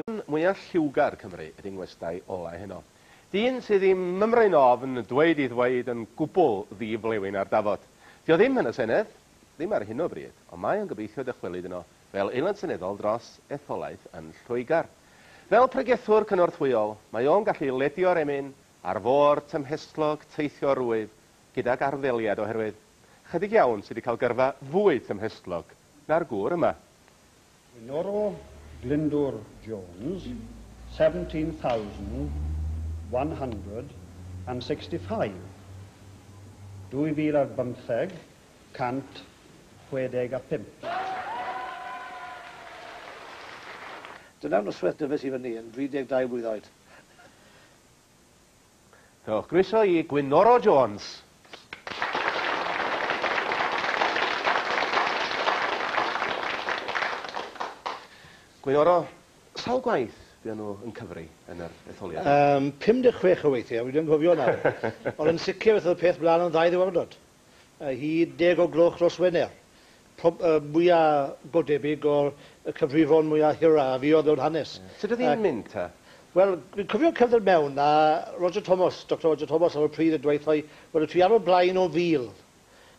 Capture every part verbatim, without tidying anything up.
Mwyaf lliwgar Cymru ydy ngwestai olau heno. Dyn sydd ddim mymryn ofn dweud i ddweud yn gwbl ddi-flewyn ar dafod. Dio ddim yn y Senedd, ddim ar hyn o bryd, ond mae o'n gobeithio dychwelyd yno fel aelod seneddol dros etholaeth yn Lloegr. Fel pregethwr cynorthwyol, mae o'n gallu ledio'r emyn ar fôr tymhestlog teithio rwydd gydag arddeliad oherwydd chydig iawn sydd wedi cael gyrfa fwy tymhestlog na'r gŵr yma. Gwynoro Glyndwr Jones, seventeen thousand one hundred and sixty-five. Dwy fil ar bymtheg, cant chwedeg a pump. Dyna'r noswaith dyfes i fyny yn dri deg dau blwydd oed. Diolch. Groeso i Gwynoro Jones. Gwynoro, sawl gwaith fuon nhw yn cyfri yn yr etholiad? Um, pum deg chwech o weithiau, fi ddim yn cofio nawr. Ond yn sicr beth oedd y peth mlaen yn ddau ddiwrnod. Uh, hyd deg o gloch dros Wener. Prob, uh, mwyaf godebyg o'r cyfrifon mwyaf hira a fuodd mewn hanes. Yeah. Sut oedd hi'n mynd ta? Wel, dwi'n cofio cerdded mewn a Roger Thomas, Doctor Roger Thomas ar y pryd yn dweud wrtho i, wel, ti ar y blaen o fil.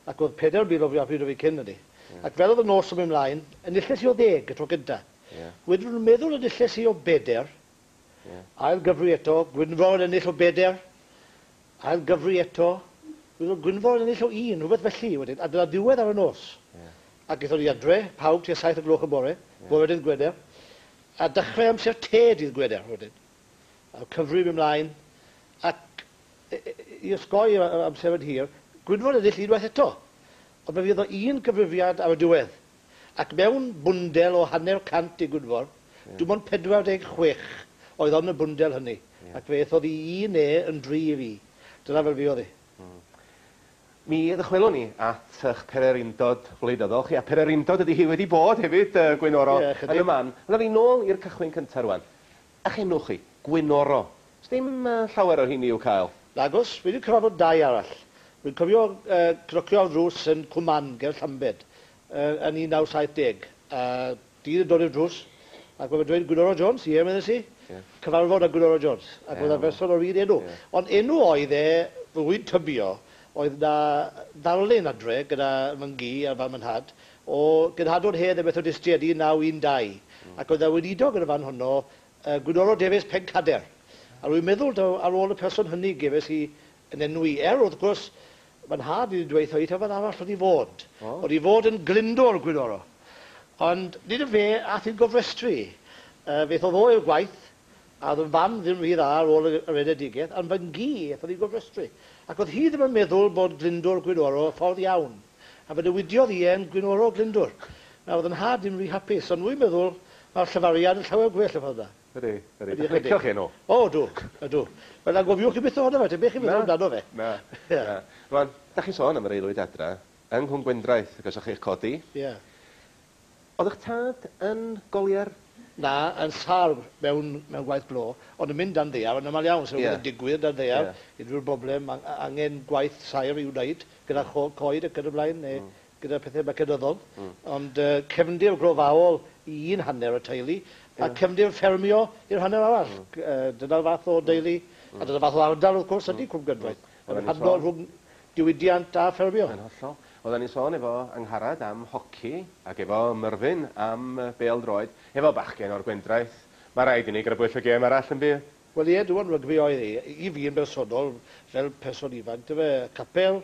Ac oedd pedair mil o fi a pryd o fi cyn hynny. Yeah. Ac fel oedd y nos yn mynd mlaen, enilles i o ddeg y tro gynta. Yeah. Wedyn nhw'n meddwl enilles i o beder, yeah. Ail gyfri eto, Gwynfor yn ennill o beder, ail gyfri eto, wedyn Gwynfor yn ennill o un, rhywbeth felly wedyn, a dyna ddiwedd ar y nos. Yeah. Ac aethon ni adre, pawb tua saith o gloch y bore, yeah. Bore dydd Gwener, a dechrau amser te dydd Gwener wedyn. A cyfri mynd mlaen, ac i osgoi amser yn hir, Gwynfor yn ennill unwaith eto. Ond fe fydd o un cyfrifiad ar y diwedd. Ac mewn bwndel o hanner cant i Gwynfor, yeah. Dim ond pedwar deg chwech oedd yn y bwndel hynny. Yeah. Ac fe aethodd i un e yn dri i fi. Dyna fel fi oedd hi. Mm. Mi ddychwelwn ni at eich pererindod wleidyddol chi, a pererindod ydy hi wedi bod hefyd, uh, Gwynoro, yeah, yn y man. Ond fi nôl i'r cychwyn cyntaf rwan. A'ch enw chi, Gwynoro. Sdim uh, llawer o hynny i'w cael? Nagos, fi wedi cyfarfod dau arall. Fi'n cofio uh, cnocio ar ddrws yn Cwman, ger Llambed, uh, yn un naw saith deg. A dyn yn dod i'r drws, ac mae'n dweud Gwynoro Jones, ie, meddes i, yeah. Cyfarfod â Gwynoro Jones, ac yeah. oedd y person o'r un enw. Yeah. Ond enw oedd e, rwy'n tybio, oedd na ddarlun adre gyda fy ngi a fam yn nhad, o genhadon hedd y Methodistiaid un naw un dau. Mm. Ac oedd y weinidog yn y fan honno, uh, Gwynoro Davies Pencader. A rwy'n meddwl daw, ar ôl y person hynny gefes i yn enwi. Er, wrth gwrs, fy nhad wedi dweud wrtho i, taw fan arall oedd i fod. Oh. Oedd i fod yn Glyndwr Gwynoro. Ond nid y fe ath i'n gofrestru. Uh, fe aeth o i'r gwaith, a oedd yn fam ddim rhy dda ar ôl yr enedigaeth, ond fy ngi aeth oedd i'n gofrestru. Ac oedd hi ddim yn meddwl bod Glyndwr Gwynoro ffordd iawn. A fe newidiodd hi e'n Gwynoro Glyndwr. Nawr, oedd yn nhad ddim rhy hapus, ond rwy'n meddwl mae'r llyfariad yn llawer gwell y ffordd yna. Ydy, ydy. Dych chi'n licio chi enw? O, dw, ydw. Wel, angofiwch chi byth ohono fe, dim beth chi'n meddwl amdano fe. Na, na. Rwan, da chi'n sôn am yr aelwyd adra, yng Nghwm Gwendraeth, ac os o'ch chi'ch codi. Ie. Oedd eich tad yn golier? Na, yn sâl mewn, mewn gwaith glo, ond yn mynd dan ddaear, yn aml iawn, so Ie. yn digwydd dan ddaear, Ie. unrhyw broblem, ang-, angen gwaith saer i'w wneud, gyda cho-, coed ac yn y blaen, neu Mm. gyda pethau mecanyddol. Mm. Ond, uh, cefndir glofaol i un hanner y teulu, a Ie. cefndir ffermio i'r hanner arall. Mm. Uh, dyna'r fath o deulu, Mm. a dyna'r fath o ardal, wrth gwrs, ydy Mm. Cwm Gwendraeth. Mm. Yn Oedden ni'n rhannol sôn- rhwng diwydiant a ffermio. Yn hollol. Oedden ni'n sôn efo Angharad am hoci ac efo Myrfyn am bêl-droed, efo bachgen o'r Gwendraeth. Mae rhaid i ni grybwyll y gêm arall yn byw. Wel ie, dwi'n rygbi oedd hi. I fi yn bersonol, fel person ifanc, dyfe, capel,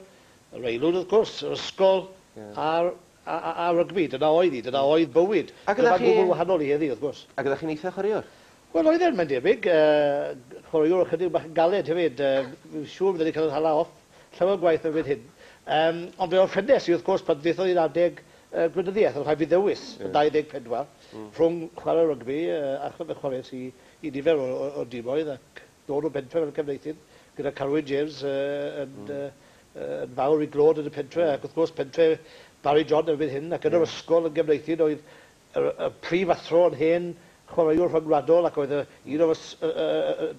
yr aelwyd wrth gwrs, yr ysgol, Ie. a'r, a, a, a rygbi. Dyna oedd hi, dyna oedd bywyd. Ac Dyma oeddech chi- gwbl wahanol i heddi, wrth gwrs. Ac oeddech chi'n eitha chwaraewr? Wel, oedd e'n, mae'n debyg. Uh, chwaraewr ychydig bach yn galed hefyd. Uh, fi'n siŵr fydden ni'n cael yn hala off. Llawer gwaith erbyn hyn. Um, ond fe orffennes i, wrth gwrs, pan ddaethodd i'n adeg uh, gwleidyddiaeth, oedd rhaid fi ddewis Ie. yn dau ddeg pedwar, Mm. rhwng chwarae rygbi uh, a fe chwaraes i, i nifer o, o, o dimoedd ac dod o bentre fel cefneithin gyda Carwyn James uh, yn, Mm. uh, uh, yn fawr i glod yn y pentre, ac wrth gwrs pentre Barry John erbyn hyn, ac yn yr Ie. ysgol yn gefneithin oedd y, y prif athro yn hen chwaraewr rhyngwladol ac oedd y, un o'r ys-, y, y, y,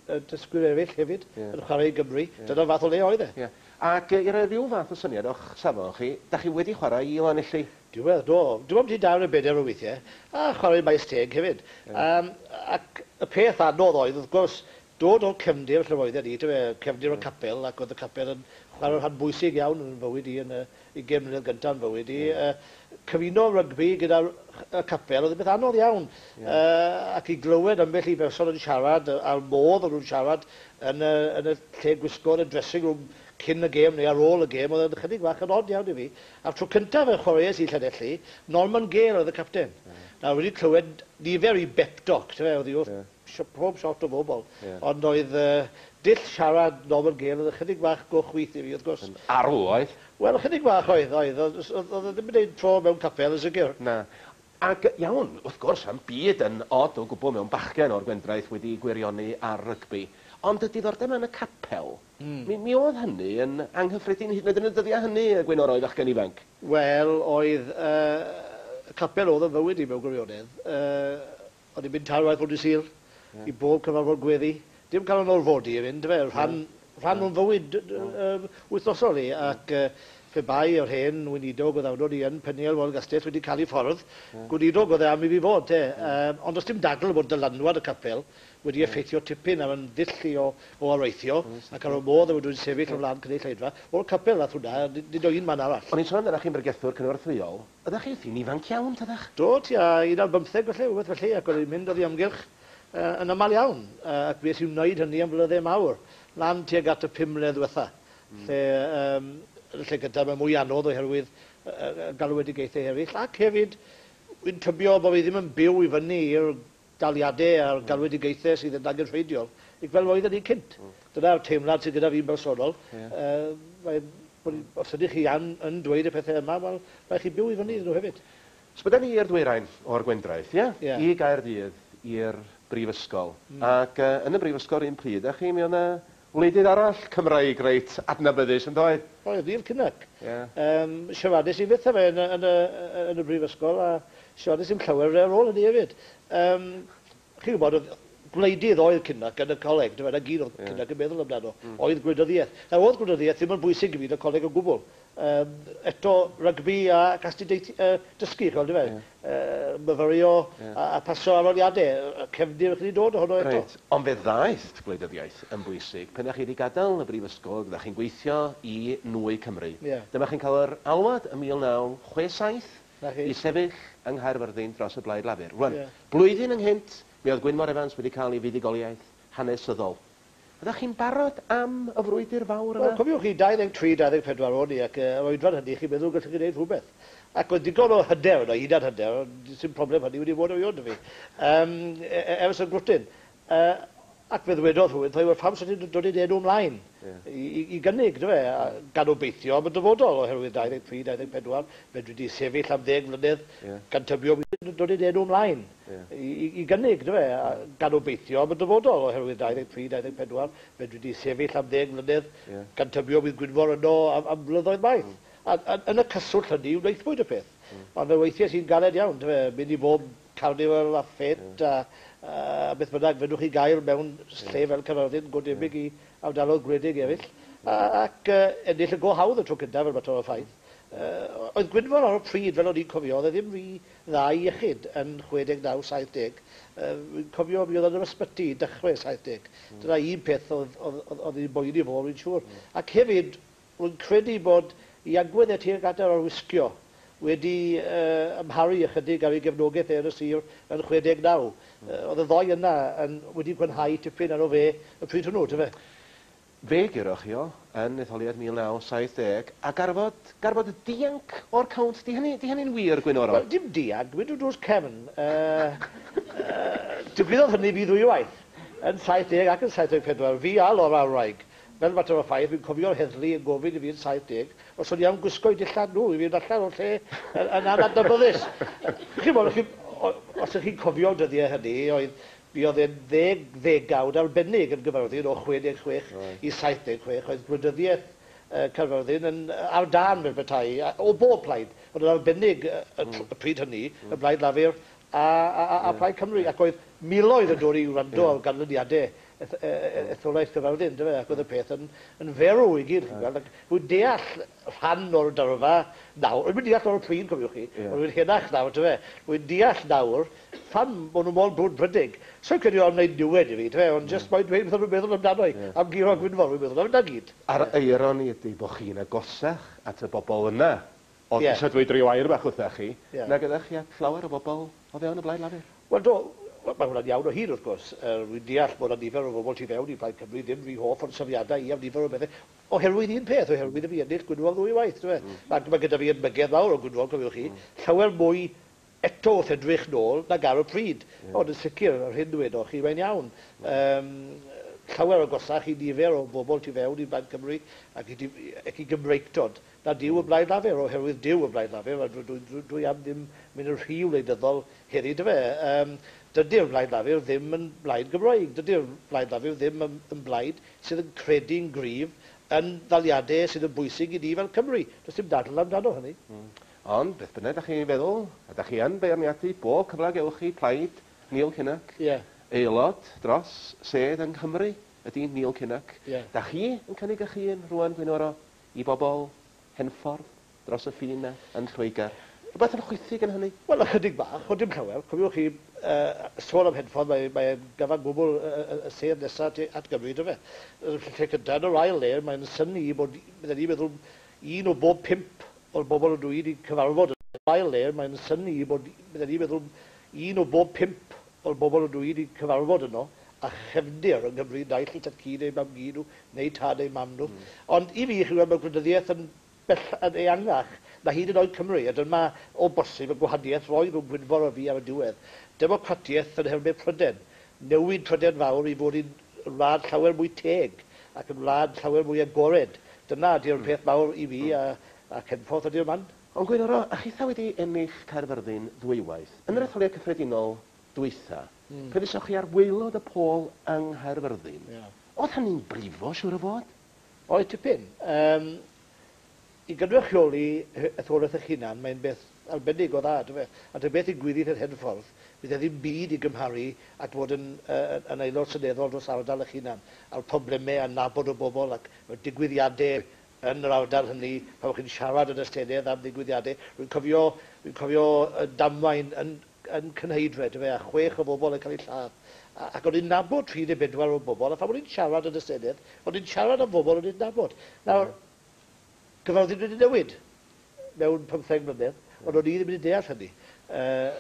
y dysgwyr eraill hefyd Ie. yn chwarae i Gymru. Ie. Dyna'r fath o le oedd e. Ie. Ac i roi rhyw fath o syniad o'ch safon chi, da chi wedi chwarae i Lanelli? Diwedd, do. Dwi'n meddwl dawn y bedair o weithiau, a chwarae Maes Teg hefyd. Yeah. Um, ac y peth anodd oedd, wrth gwrs, dod o'r cefndir lle roedden ni, cefndir y capel, ac oedd y capel yn chwarae rhan bwysig iawn yn fywyd i, yn y ugain mlynedd gyntaf yn fywyd i. Yeah. Uh, cyfuno rygbi gyda'r y capel oedd yn beth anodd iawn. Yeah. Uh, ac i glywed ambell i berson yn siarad, a'r modd o'n nhw'n siarad yn y, yn y lle gwisgo, yn y dressing room cyn y gêm neu ar ôl y gêm, oedd yn chydig bach yn od iawn i fi. A'r tro cyntaf y chwaraeais i Llanelli, Norman Gale oedd y capten. Yeah. Nawr, wedi clywed nifer i bep talk, oedd hi wrth yeah. pob shot o bobl. Yeah. Ond oedd uh, dull siarad Norman Gale oedd ychydig bach go chwith i fi, wrth gwrs. Yn arw oedd? Wel, ychydig bach oedd, oedd. Oedd oedd ddim yn gwneud tro mewn capel, yn sicr. Na. Ac iawn, wrth gwrs, am byd yn od o gwbl mewn bachgen o'r Gwendraeth wedi gwirioni ar rygbi. Ond y diddordeb yn y capel, mm. mi, mi oedd hynny yn anghyffredin hyd yn oed yn y dyddiau hynny, Gwynoro, i fachgen ifanc? Wel, oedd uh, y capel oedd yn fywyd i mewn gwirionedd. Uh, o'n i'n mynd tair waith bob dydd Sul, yeah. i bob cyfarfod gweddi. Dim cael yn orfodi i fynd, fe, rhan, yeah. rhan o'n fywyd yeah. wythnosol i, ac uh, pe bai o'r hen weinidog oedd awdod i yn Peniel Wal Gastell wedi cael ei ffordd, yeah. gweinidog oedd e am i fi fod, te. Yeah. Um, ond does dim dadl bod dylanwad y capel wedi yeah. effeithio tipyn ar yn ddull i o, o areithio, yes. ac ar y modd oedd wedi'n sefyll yeah. o flaen cynulleidfa, o'r capel nath hwnna, nid o un man arall. O'n i'n sôn amdanoch chi'n bregethwr cynorthwyol, ydych chi wrthi'n ifanc iawn, tydach? Do, tua un ar bymtheg felly, rhywbeth felly, ac o'n i'n mynd oddi amgylch uh, yn aml iawn, uh, ac fues i'n wneud hynny am flynydde mawr, lan tuag at y pum mlynedd ddiwetha, mm. lle um, yn y lle gyntaf mae mwy anodd oherwydd uh, galwedigaethau eraill, ac hefyd, wy'n tybio bod fi ddim yn byw i fyny i'r daliadau a'r galwedigaethau sydd yn angenrheidiol, i fel oedden ni cynt. Mm. Dyna'r teimlad sydd gyda fi'n bersonol. Yeah. Uh, mae, bod, os ydych chi an, yn dweud y pethau yma, wel, rhaid chi byw i fyny iddyn nhw hefyd. So bydden ni i'r dwyrain o'r Gwendraeth, ie? Yeah? I Gaerdydd, i'r brifysgol. Mm. Ac uh, yn y brifysgol un pryd, a chi, mi oedd 'na wleidydd arall Cymraeg reit adnabyddus, yn doedd? Oedd, Neil Kinnock. Yeah. Um, siaradais i fyth â fe yn, yn, y, yn y brifysgol, a siaradais i'm llawer ar ôl hynny hefyd. Um, chi'n gwybod, oedd gwleidydd oedd Kinnock yn y coleg, dyma na gyd oedd yeah. Kinnock yn meddwl amdano, mm. oedd gwleidyddiaeth. Nawr, oedd gwleidyddiaeth ddim yn bwysig i fi yn y coleg o gwbl. Um, eto, rygbi a astudiaeth, uh, dysgu, chi'n gweld, yeah. uh, myfyrio yeah. a, a pasio arholiadau, cefndir chi wedi dod ohono eto. Reit, ond fe ddaeth gwleidyddiaeth yn bwysig pan a'ch chi wedi gadael y brifysgol, gyda chi'n gweithio i Nwy Cymru. Yeah. Dyma chi'n cael yr alwad ym mil naw chwe saith i sefyll yng Nghaerfyrddin dros y Blaid Lafur. Rwan, yeah. blwyddyn ynghynt, mi oedd Gwynfor Evans wedi cael ei fuddugoliaeth hanesyddol. Ydych chi'n barod am y frwydr fawr yna? Wel, cofiwch chi, dau ddeg tri, dau ddeg pedwar o'n i, ac yr oedran hynny, chi'n meddwl gallwch chi wneud rhywbeth. Ac oedd digon o hyder yno, hunan hyder, dim problem hynny wedi bod erioed 'da fi, um, ers y grwtyn. Uh, ac fe ddwedodd rhywun, wel, pam sy'n ti'n dod i'n enw ymlaen yeah. i, i, i gynnig, dy fe, gan obeithio am y dyfodol, oherwydd dau ddeg tri, dau ddeg pedwar, fe dwi wedi sefyll am ddeg mlynedd, yeah. gan tybio bod dod i'n enw ymlaen yeah. i, i, i gynnig, dy fe, gan obeithio am y dyfodol, oherwydd dau ddeg tri, dau ddeg pedwar, fe dwi wedi sefyll am ddeg mlynedd, yeah. gan tybio bydd Gwynfor yno am, am blynyddoedd maith. Mm. A, a, yn y cyswllt hynny, wnaethpwyd y peth. Mm. Ond fe weithiau sy'n galed iawn, dy fe, mynd i bob carnival a ffet yeah. a a beth bynnag fedrwch chi gael mewn lle fel Caerfyrddin, go debyg yeah. i ardaloedd gwledig eraill, a, ac uh, ennill y go hawdd y tro cyntaf fel mater o ffaith. Uh, oedd Gwynfor ar y pryd, fel o'n i'n cofio, oedd e ddim rhy dda i iechyd yn chwe deg naw, saith deg. Uh, fi'n cofio mi oedd yn yr ysbyty i dechrau saith deg. Mm. Dyna un peth oedd, oedd, oedd, oedd hi'n boeni fo, rwy'n siŵr. Mm. Ac hefyd, rwy'n credu bod i agwedd e tuag at yr arwisgio wedi uh, amharu ychydig ar ei gefnogaeth e yn y sir yn chwe deg naw. Mm. Uh, oedd y ddoi yna yn, wedi gwanhau tipyn arno fe y pryd hwnnw, tyfe? Fe guroch chi o yn etholiad mil naw saith deg a garfod, garfod dianc o'r cownt. Di hynny, di hynny'n wir, Gwynoro? Wel, dim dianc, mynd drws cefn. Uh, uh, digwyddodd hynny fi ddwywaith, yn saith deg ac yn saith deg pedwar. Fi a Laura Wraig. Fel mater o ffaith, fi'n cofio'r heddlu yn gofyn i fi yn saith deg, os o'n i am gwisgo i dillad nhw, i fi'n allan o'r lle yn, yn anadnabyddus. Chi'n bod, chi, os ydych chi'n cofio'r dyddiau hynny, oedd, mi oedd e'n ddeg ddegawd arbennig yn Gaerfyrddin o chwe deg chwech right. i saith deg chwech, oedd gwleidyddiaeth uh, Caerfyrddin yn ar dân fel petai, o bob plaid, ond yn arbennig y, y, mm. y pryd hynny, mm. y Blaid Lafur a, a, a, a yeah. Plaid Cymru, ac oedd miloedd yn dod i wrando yeah. ar ganlyniadau etholaeth Caerfyrddin, yndyfe, ac oedd y peth yn, yn ferw i gyd, chi'n gweld, ac rwy'n deall rhan o'r dyrfa nawr, rwy'n deall o'r pryd, cofiwch chi, yeah. Rwy'n henach nawr, yndyfe, rwy'n deall nawr pham bod nhw mor brwdfrydig. So'n credu o'n wneud niwed i fi, yndyfe, ond jyst mae'n dweud beth o'n nhw'n meddwl amdano i, yeah. Am guro Gwynfor, rwy'n meddwl am na gyd. A'r eironi ydy bod chi'n agosach at y bobl yna, oedd yeah. Eisiau dweud rhyw air bach wrthach chi, yeah. Na gyda chi at llawer o bobl o fewn y Blaid Lafur. Wel, do, mae hwnna'n iawn o hyd, wrth gwrs. Uh, rwy'n deall bod yna nifer o bobl tu fewn i Blaid Cymru ddim rhy hoff o'r syniadau i am nifer o bethau. Oherwydd un peth, oherwydd i fi ennill Gwynfor ddwy waith. Mm. Mae, mae gyda fi edmygedd mawr o Gwynfor, cofiwch chi, mm. Llawer mwy eto wrth edrych nôl nag ar y pryd. Yeah. Ond yn sicr, yr hyn dwedoch chi, mae'n iawn. Mm. Um, llawer o gosach i nifer o bobl tu fewn i Blaid Cymru ac i, ac i Gymreictod na dyw y Blaid Lafur, oherwydd dyw y Blaid Lafur, a dwi, dwi, dwi, dwi am ddim mynd yn rhy wleidyddol heddi, dyfe. Um, dydy'r Blaid Lafur ddim yn blaid Gymraeg, dydy'r Blaid Lafur ddim yn, yn blaid sydd yn credu'n gryf yn ddaliadau sydd yn bwysig i ni fel Cymru. Does dim dadl amdano hynny. Mm. Ond, beth bynnag da chi'n feddwl, a da chi yn beirniadu bob cyfle gewch chi plaid Neil Kinnock, yeah. Aelod dros sedd yng Nghymru ydy Neil Kinnock. Yeah. Da chi yn cynnig eich hun rŵan, Gwynoro, i bobl Henffordd dros y ffin yna yn Lloegr? Rhywbeth yn chwithig yn hynny? Wel, ychydig bach, ond dim llawer. Cofiwch chi, uh, sôn am Henffordd, mae'n mae gyfan gwbl y, y, y sedd nesaf at, at Gymru, dyfe. Y lle cyntaf, yn yr ail le, mae'n synnu bod, bydden ni'n meddwl, un o bob pump o'r bobl ydw i wedi cyfarfod. Yn yr ail le, mae'n synnu bod, bydden ni'n meddwl, un o bob pump o'r bobl ydw i wedi cyfarfod yno, a chefndir yng Nghymru, naill i tad-cu neu mam-gu nhw, neu tad neu mam nhw. Mm. Ond i fi, chi'n gweld, mae gwleidyddiaeth yn bell yn eangach na hyd yn oed Cymru, a dyma o bosib y gwahaniaeth roedd rhwng Gwynfor a fi ar y diwedd. Democratiaeth yn nhermau Prydain, newid Prydain fawr i fod yn wlad llawer mwy teg ac yn wlad llawer mwy agored. Dyna ydy'r mm. peth mawr i fi a, a Henffordd ydy'r man. Ond Gwynoro, a chitha wedi ennill Caerfyrddin ddwywaith, yn yr etholiad cyffredinol dwytha, mm. pryd esoch chi ar waelod y pôl yng Nghaerfyrddin, yeah. Oedd hynny'n brifo, siŵr o fod? Oedd tipyn. Um, I gynrychioli etholaeth eich hunan, mae'n beth arbennig o dda, dyfe. A dyna beth ddigwyddith yn Henffordd, bydd e ddim byd i gymharu at fod yn, uh, yn aelod seneddol dros ardal eich hunan, a'r problemau a nabod o bobl ac y digwyddiadau yn yr ardal hynny, pan chi'n siarad yn y Senedd am ddigwyddiadau. Rwy'n cofio, rwy'n cofio damwain yn, yn Cynheidre, dyfe, a chwech o bobl yn cael eu lladd. Ac o'n i'n nabod tri neu bedwar o bobl, a phan o'n i'n siarad yn y Senedd, o'n i'n siarad am bobl o'n i'n nabod. Nawr, Caerfyrddin wedi newid mewn pymtheg mlynedd, ond o'n i ddim wedi deall hynny. Uh,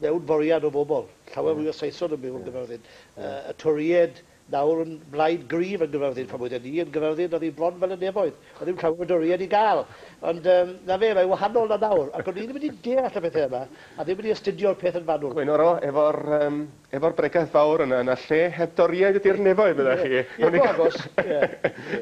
mewn foriad o bobl, llawer fwy o Saeson yn byw yn Gaerfyrddin. Uh, y Torïaid nawr yn blaid gryf yn Gaerfyrddin, pan oedden ni yn Gaerfyrddin, oedd hi bron fel y nefoedd. Oedd ddim llawer o Dorïaid i gael. Ond um, na fe, mae'n wahanol na nawr. Ac o'n i ddim wedi deall y pethau yma, a ddim wedi astudio'r peth yn fanwl. Gwynoro, efo'r um, efo'r bregaeth fawr yna, yna lle heb Dorïaid ydy'r nefoedd, byddech chi. Ie, go agos.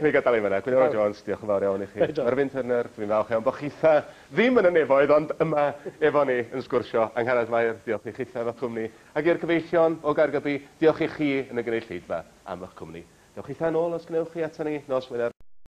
Ni gadael i fyna. Gwynoro Jones, diolch yn fawr iawn i chi. Merfyn Turner, dwi'n falch iawn bod chitha ddim yn y nefoedd, ond yma efo ni yn sgwrsio. Angharad Mair, diolch i chitha efo'ch cwmni. Ac i'r cyfeillion o Gaergybi, diolch i chi yn y gynulleidfa am eich cwmni. Dewch chitha nôl os gwnewch chi ato ni nos Wener.